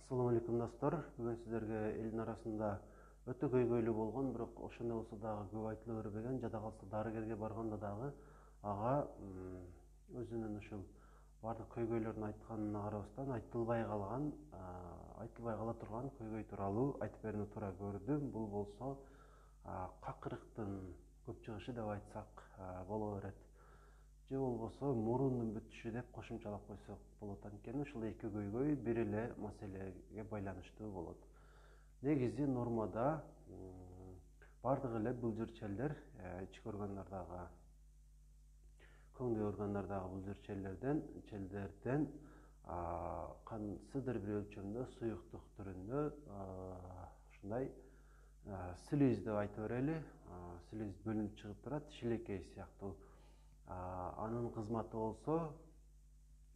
Assalamu alaikum достор. Бүгүн сиздерге элдин арасында өтө көйгөйлүү болгон, бирок ошондой болсо дагы көп айтыла бербеген, жада калса дарыгерге барганда дагы ага өзүнүн ушул бардык көйгөйлөрүн айтканына карабастан айтылбай кала турган көйгөй тууралуу айтып берүүнү туура көрдүм. Бул болсо какырыктын көп чыгышы деп айтсак боло берет. Же болбосо мурундун бүтүшү деп кошумчалап койсок болот. Анткени ушул эки көйгөй бир эле маселеге байланыштуу болот. Негизи нормада бардык эле былжырчелдер, ички органдардагы, көңдөй органдардагы былжырчелдерден кандайдыр бир өлчөмдө суюктук түрүндө ушундай слиз деп айта берели, слиз бөлүнүп чыгып турат, шилекей сыяктуу. Анын кызматы болсо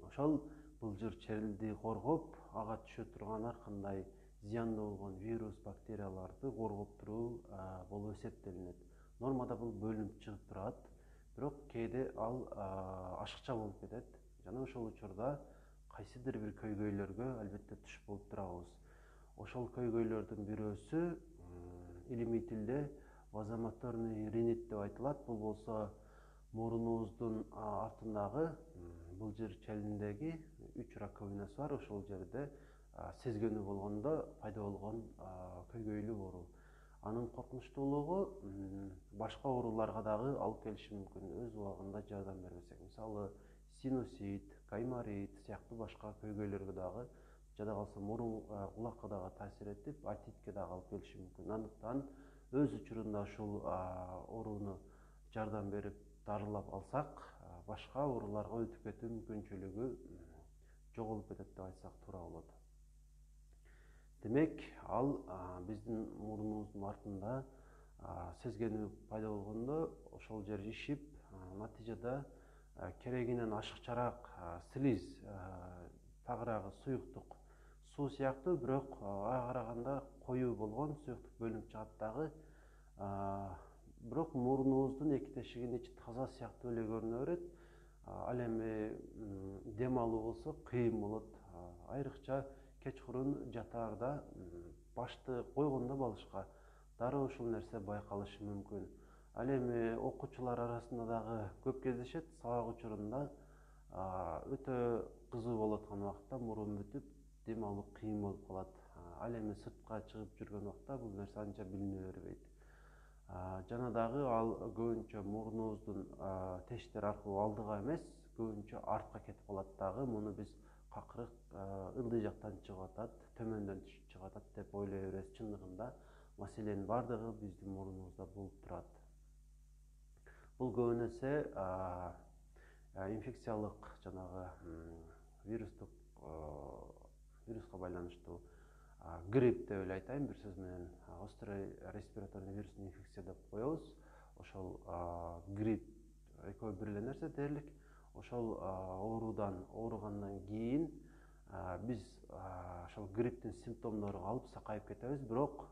ошол былжырчелди коргоп, ага түшө турган ар кандай зыяндуу болгон вирус, бактерияларды коргоп туруу болуп эсептелинет. Нормада бул бөлүнүп чыгып турат, бирок кээде ал ашыкча болуп кетет жана ошол учурда кайсыдыр бир көйгөйлөргө албетте туш болуп турабыз. Ошол көйгөйлөрдүн бирөөсү илимий тилде вазомоторный ринит деп айтылат. Бул болсо мурунубуздун артындагы былжырчелиндеги 3 раковинасы бар. Ошол жерде сезгөнү болгондо пайда болгон көйгөйлүү оору. Анын коркунучтуулугу башка ооруларга дагы алып келиши мүмкүн, өз убагында жардам бербесек. Мисалы, синусит, гайморит сыяктуу башка көйгөйлөргө дагы, жада калса мурун кулакка дагы таасир этип, отитке дагы алып келиши мүмкүн. Андыктан өз учурунда ушул ооруну жардам берип дарылап алсак, башка ооруларга өтүп кетүү мүмкүнчүлүгү жоголуп кетет деп айтсак туура болот. Демек, ал биздин мурунубуздун артында сезгенүү пайда болгондо ошол жер ишип, натыйжада керегинен ашыкчараак слиз, тагыраагы суюктук, суу сыяктуу, бирок ага караганда коюу болгон суюктук бөлүнүп чыгат дагы. Бирок мурунубуздун эки тешигинин ичи таза сыяктуу эле көрүнө берет. Ал эми дем алуу болсо кыйын болот. Айрыкча кечкурун жатаарда башты койгондо балышка дароо ушул нерсе байкалышы мүмкүн. Ал эми окуучулар арасында дагы көп кездешет. Сабак учурунда өтө кызуу болуп аткан убакта мурун бүтүп, дем алуу кыйын болуп калат. Ал эми сыртка чыгып жүргөн убакта бул нерсе анча билине бербейт. Жана дагы ал көбүнчө мурунубуздун тештери аркылуу алдыга эмес, көбүнчө артка кетип калат дагы. Муну биз какырык ылдый жактан чыгып атат, төмөндөн чыгып атат деп ойлой беребиз. Чындыгында маселенин бардыгы биздин мурунубузда болуп турат. Бул көбүнесе инфекциялык жанагы вируска байланыштуу грипп деп эле айтайын, бир сөз менен острый респираторный вирусный инфекция деп коебуз. Ошол грипп экөө бир эле нерсе дээрлик. Ошол оорудан ооругандан кийин биз ошол грипптин симптомдору калып сакайып кетебиз, бирок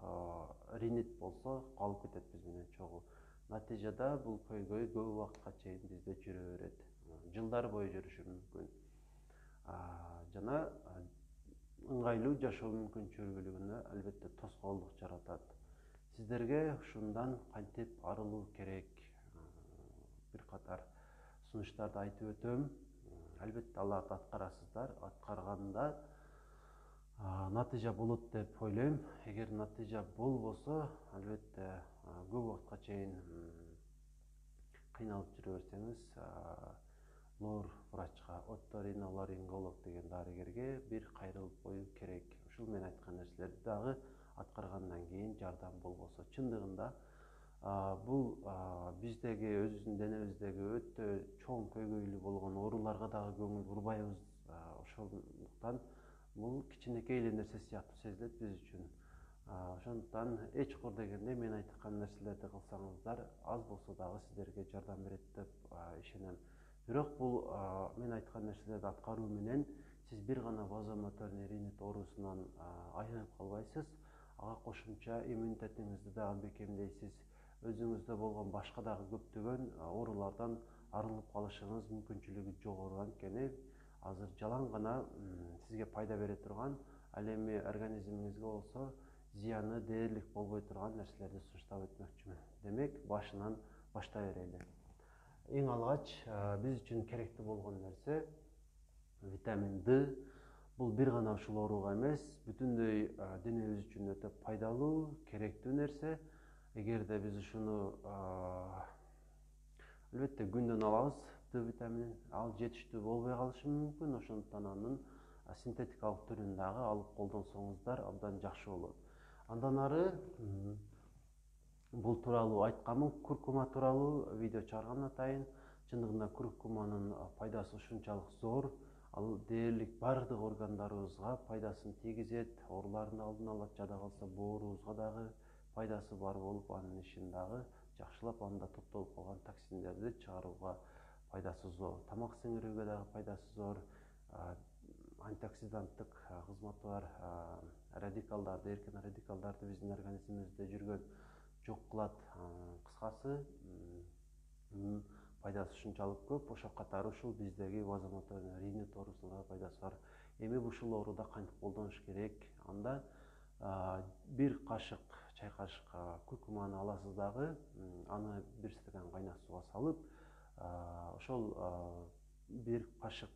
ринит болсо калып кетет биз менен чогуу. Натыйжада бул көйгөй көп убакытка чейин бизде жүрө берет. Жылдар бою жүрүшү мүмкүн. Жана ыңгайлуу жашоо мүмкүнчүлүгүнө албетте тоскоолдук жаратат. Сиздерге ушундан кантип арылуу керек? Бир катар сунуштарды айтып өтөм. Албетте аларды аткарасыздар. Аткарганда натыйжа болот деп ойлойм. Эгер натыйжа болбосо, албетте көп убакытка чейин кыйналып жүрө берсеңиз, лор врачка, оториноларинголог деген дарыгерге бир кайрылып коюу керек. Ушул мен айткан нерселерди дагы аткаргандан кийин жардам болбосо. Чындыгында бул биздеги өзүбүздүн денебиздеги өтө чоң көйгөйлүү болгон ооруларга дагы көңүл бурбайбыз. Ошондуктан бул кичинекей эле нерсе сыяктуу сезилет биз үчүн. Ошондуктан эч кур дегенде мен айткан нерселерди кылсаңыздар, аз болсо дагы сиздерге жардам берет деп ишенем. Бирок бул мен айткан нерселерди аткаруу менен сиз бир гана вазомоторный ринит оорусунан айыгып калбайсыз. Ага кошумча иммунитетиңизди дагы бекемдейсиз. Өзүңүздө болгон башка дагы көптөгөн оорулардан арылып калышыңыз мүмкүнчүлүгү жогору. Анткени азыр жалаң гана сизге пайда бере турган Ал эми организмиңизге болсо зыяны дээрлик болбой турган нерселерди сунуштап өтмөкчүмүн. Демек, башынан баштай берели. Эң алгач биз үчүн керектүү болгон нерсе витамин D. Бул бир гана ушул ооруга эмес, бүтүндөй денебиз үчүн өтө пайдалуу, керектүү нерсе. Эгерде биз ушуну албетте күндөн алабыз D витаминин, ал жетиштүү болбой калышы мүмкүн. Ошондуктан анын синтетикалык түрүн дагы алып колдонсоңуздар абдан жакшы болот. Андан ары бул тууралуу айтканмын, куркума тууралуу видео чыгарган атайын. Чындыгында куркуманын пайдасы ушунчалык зор. Ал дээрлик бардык органдарыбызга пайдасын тийгизет, оорулардын алдын алат, жада калса боорубузга дагы пайдасы бар болуп, анын ишин дагы жакшылап, анда топтолуп калган токсиндерди чыгарууга пайдасы зор. Тамак сиңирүүгө дагы пайдасы зор. Антиоксиданттык кызматы бар. Радикалдарды, эркин радикалдарды биздин организмибизде жүргөн жок кылат. Кыскасы, пайдасы ушунчалык көп. Ошо катары ушул биздеги вазомоторный ринит оорусуна пайдасы бар. Эми ушул ооруда кантип колдонуш керек? Анда бир кашык, чай кашык куркуманы аласыз дагы, аны бир стакан кайнак сууга салып, ошол бир кашык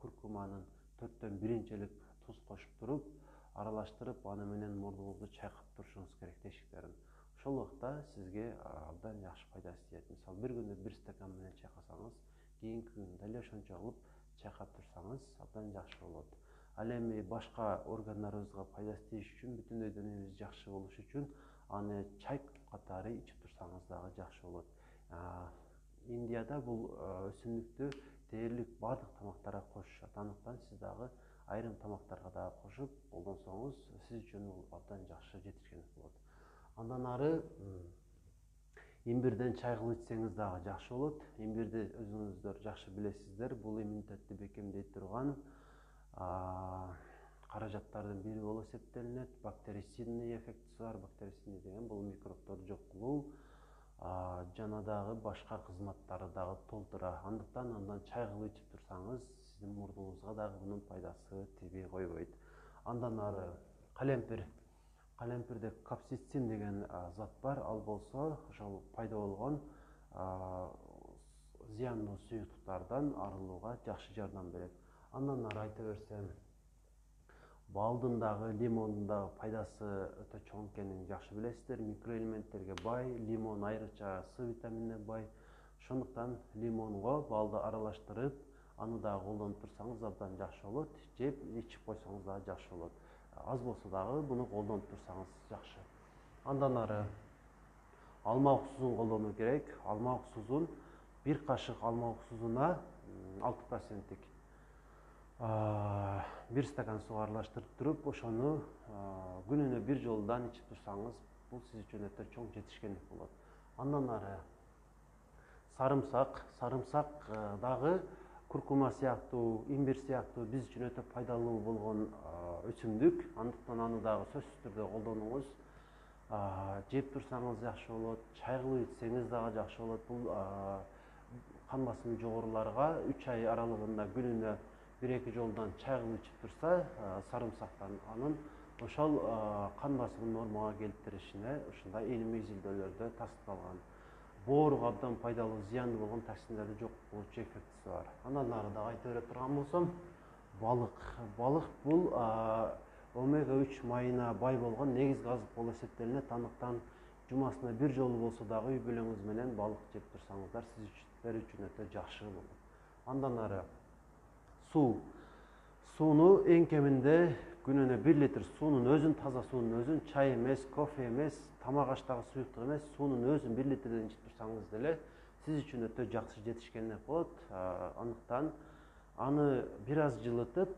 куркуманын 4/1 чейлек туз кошуп туруп, аралаштырып, аны менен мурдуңузду чайкап турушуңуз керек, тешиктерин. Ошол убакта сизге абдан жакшы пайдасы тиет. Мисалы, бир күндө бир стакан менен чайкасаңыз, кийинки күндө эле ошончо кылып чайкап турсаңыз абдан жакшы болот. Ал эми башка органдарыбызга пайдасы тийиш үчүн, бүтүндөй денебиз жакшы болуш үчүн аны чай катары ичип турсаңыз дагы жакшы болот. Индияда бул өсүмдүктү дээрлик бардык тамактарга кошушат. Андыктан сиз дагы айрым тамактарга дагы кошуп колдонсоңуз, сиз үчүн бул абдан жакшы жетишкендик болот. Андан ары имбирден чай кылып ичсеңиз дагы жакшы болот. Имбирди өзүңүздөр жакшы билесиздер. Бул иммунитетти бекемдей турган каражаттардын бири болуп эсептелинет. Бактерицидный эффектиси бар. Бактерицидный деген бул микробторду жок кылуу, жана дагы башка кызматтары дагы толтура. Андыктан андан чай кылып ичип турсаңыз, сиздин мурдуңузга дагы мунун пайдасы тийбей койбойт. Андан ары калемпир. Калемпирде капсицин деген зат бар. Ал болсо ошол пайда болгон зыяндуу суюктуктардан арылууга жакшы жардам берет. Андан ары айта берсем, балдын дагы, лимондун дагы пайдасы өтө чоң экенин жакшы билесиздер. Микроэлементтерге бай, лимон айрыкча С витаминине бай. Ошондуктан лимонго балды аралаштырып, аны дагы колдонуп турсаңыз абдан жакшы болот. Жеп, ичип койсоңуз дагы жакшы болот. Аз болсо дагы буну колдонуп турсаңыз жакшы. Андан ары алма уксузун колдонуу керек. Алма уксузун бир кашык алма уксузуна 6%, бир стакан сууга аралаштырып туруп, ошону күнүнө бир жолдан ичип турсаңыз, бул сиз үчүн өтө чоң жетишкендик болот. Андан ары сарымсак. Сарымсак дагы куркума сыяктуу, имбир сыяктуу биз үчүн өтө пайдалуу болгон өсүмдүк. Андыктан аны дагы сөзсүз түрдө колдонуңуз. Жеп турсаңыз жакшы болот, чай кылып ичсеңиз дагы жакшы болот. Бул кан басымы жогоруларга 3 ай аралыгында күнүнө 1-2 жолдан чай кылып ичип турса, сарымсактан анын ошол кан басымын нормага келтиришине ушундай мезилдөөлөрдө тастыкталган. Бооруга абдан пайдалуу, зыяндуу болгон токсиндерди жок кылуучу эффектиси бар. Андан ары дагы айта бере турган болсом, балык. Балык бул омега-3 майына бай болгон негизги азык болуп эсептелинет. Андыктан жумасына бир жолу болсо дагы үй бүлөңүз менен балык жеп турсаңыздар, сиздер үчүн өтө жакшы болот. Андан ары суу. Сууну эң кеминде күнүнө 1 литр суунун өзүн, таза суунун өзүн, чай эмес, кофе эмес, тамак аштагы суюктук эмес, суунун өзүн 1 литрден ичип турсаңыз деле сиз үчүн өтө жакшы жетишкендик болот. Андыктан аны бир аз жылытып,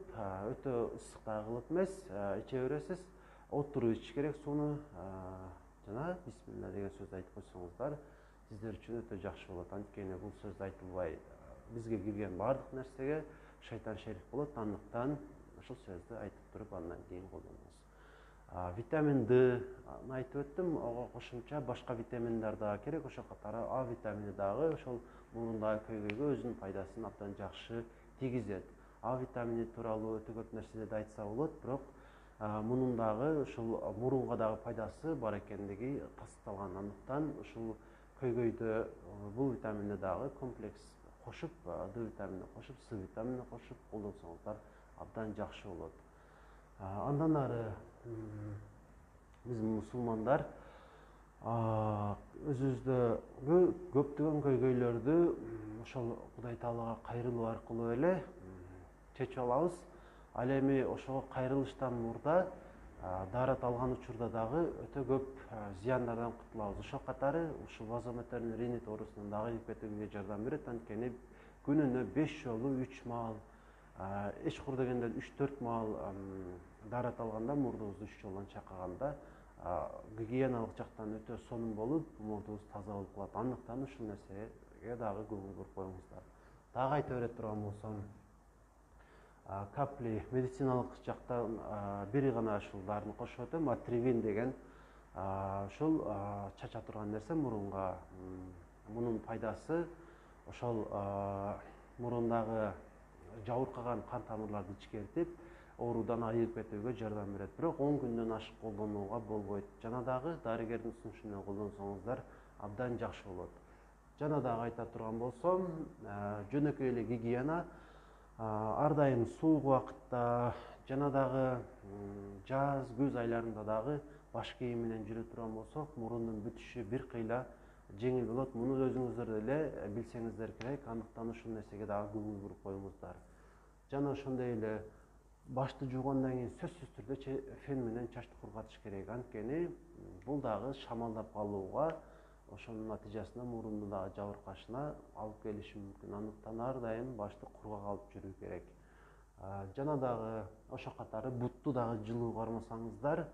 өтө ысык да кылып эмес, иче бересиз. Отуруп ичиш керек сууну. Жана бисмилла деген сөздү айтып койсоңуздар, сиздер үчүн өтө жакшы болот. Анткени бул сөз айтылбай бизге кирген бардык нерсеге шайтан шерик болот. Андыктан ушул сөздү айтып туруп, андан кийин колдонуңуз. Витамин D айтып өттүм, ого кошумча башка витаминдер дагы керек. Ошол катары А витамини дагы ошол мурундагы көйгөйгө өзүнүн пайдасын абдан жакшы тийгизет. А витамини тууралуу өтө көп нерселерди айтса болот, бирок мунун дагы ушул мурунга дагы пайдасы бар экендиги тастыкталган. Андыктан ушул көйгөйдө бул витаминди дагы комплекс кошуп, Д витаминин кошуп, С витаминин кошуп колдонсоңуздар абдан жакшы болот. Андан ары биз мусулмандар өзүбүздө көптөгөн көйгөйлөрдү ошол Кудай Таалага кайрылуу аркылуу эле чечип алабыз. Ал эми ошого кайрылыштан мурда даарат алган учурда дагы өтө көп зыяндардан кутулабыз. Ошол катары ушул вазомоторный ринит оорусунан дагы ийип кетүүгө жардам берет. Анткени күнүнө 5 жолу 3 маал, эч кур дегенде 3-4 маал даарат алганда, мурдубузду 3 жолдон чайкаганда гигиеналык жактан өтө сонун болуп, мурдубуз таза болуп калат. Андыктан ушул нерсеге дагы көңүл буруп коюңуздар. Дагы айта бере турган болсом, капли медициналык жактан бири гана ушул дарыны кошуп өтөм. Атривин деген ушул чача турган нерсе мурунга. Мунун пайдасы ошол мурундагы жабыркаган кан тамырларды ичкертип, оорудан айыгып кетүүгө жардам берет. Бирок 10 күндөн ашык колдонууга болбойт. Жана дагы дарыгердин сунушу менен колдонсоңуздар абдан жакшы болот. Жана дагы айта турган болсом, жөнөкөй эле гигиена, ар дайым суук убакытта жана дагы жаз, күз айларында дагы баш кийим менен жүрө турган болсок, мурундун бүтүшү бир кыйла жеңил болот. Муну өзүңүздөр деле билсеңиздер керек. Андыктан ушул нерсеге дагы көңүл буруп коюңуздар. Жана ошондой эле башты жуугандан кийин сөзсүз түрдө фен менен чачты кургатыш керек. Анткени бул дагы шамалдап калууга, ошонун натыйжасында мурунду дагы жабыркашына алып келиши мүмкүн. Андыктан ар дайым башты кургак алып жүрүү керек. Жана дагы ошол катары бутту дагы жылуу кармасаңыздар,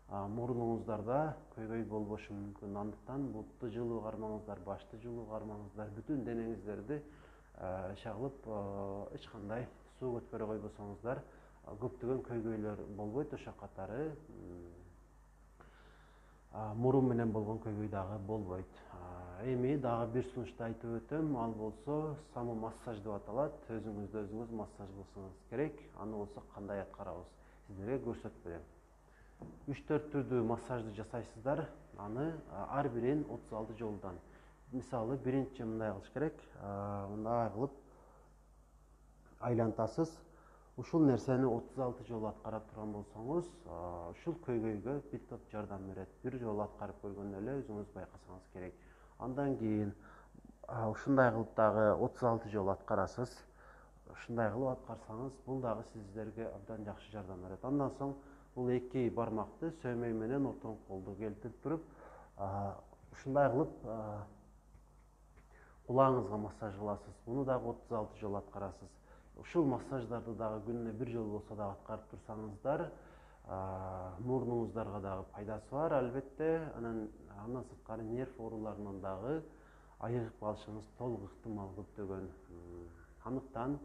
мурунуңуздарда көйгөй болбошу мүмкүн. Андыктан бутту жылуу кармаңыздар, башты жылуу кармаңыздар, бүтүн денеңиздерди иши кылып, эч кандай суу өткөрө койбосоңуздар, көптөгөн көйгөйлөр болбойт. Ошол катары мурун менен болгон көйгөй дагы болбойт. Эми дагы бир сунушту айтып өтөм, ал болсо самомассаж деп аталат. Өзүңүздү өзүңүз массаж кылсаңыз керек. Аны болсо кандай аткарабыз? Сиздерге көрсөтүп берем. 3-4 түрдүү массажды жасайсыздар. Аны ар бирин 36 жолдан. Мисалы, биринчи мындай кылыш керек. Мындай кылып айлантасыз. Ушул нерсени 36 жолу аткарып турган болсоңуз, ушул көйгөйгө бир топ жардам берет. Бир жолу аткарып көргөндө эле өзүңүз байкасаңыз керек. Андан кийин ушундай кылып дагы 36 жолу аткарасыз. Ушундай кылып аткарсаңыз, бул дагы сиздерге абдан жакшы жардам берет. Андан соң бул эки бармакты сөөмөй менен ортоңку колду келтирип туруп, ушундай кылып кулагыңызга массаж кыласыз. Муну дагы 36 жолу аткарасыз. Ушул массаждарды дагы күнүнө бир жолу болсо дагы аткарып турсаңыздар, мурунуңуздарга дагы пайдасы бар, албетте. Андан сырткары нерв ооруларынан дагы айыгып калышыңыз толук ыктымал көптөгөн. Андыктан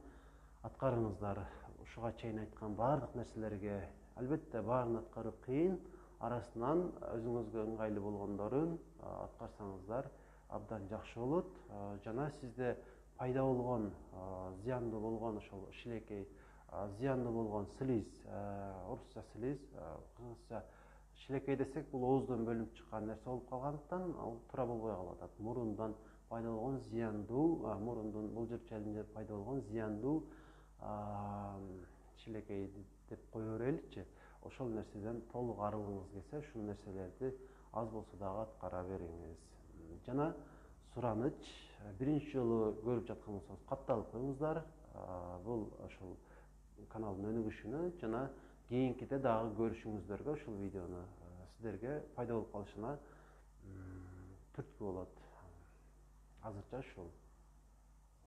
аткарыңыздар. Ушуга чейин айткан баардык нерселерге, албетте баарын аткаруу кыйын, арасынан өзүңүзгө ыңгайлуу болгондорун аткарсаңыздар абдан жакшы болот. Жана сизде пайда болгон, зыяндуу болгон ошол шилекей, зыяндуу болгон слиз, орусча слиз, кыргызча шилекей десек, бул ооздон бөлүнүп чыккан нерсе болуп калгандыктан, ал туура болбой калып атат. Мурундан пайда болгон зыяндуу, мурундун бул жерчеринде пайда болгон зыяндуу шилекей деп кое береличи. Ошол нерседен толук арылгыңыз келсе, ушул нерселерди аз болсо дагы аткара бериңиз. Жана сураныч, биринчи жолу көрүп жаткан болсоңуз, катталып коюңуздар. Бул ошол каналдын өнүгүшүнө жана кийинкиде дагы көрүшүңүздөргө, ушул видеону сиздерге пайда болуп калышына түрткү болот. Азырча ушул.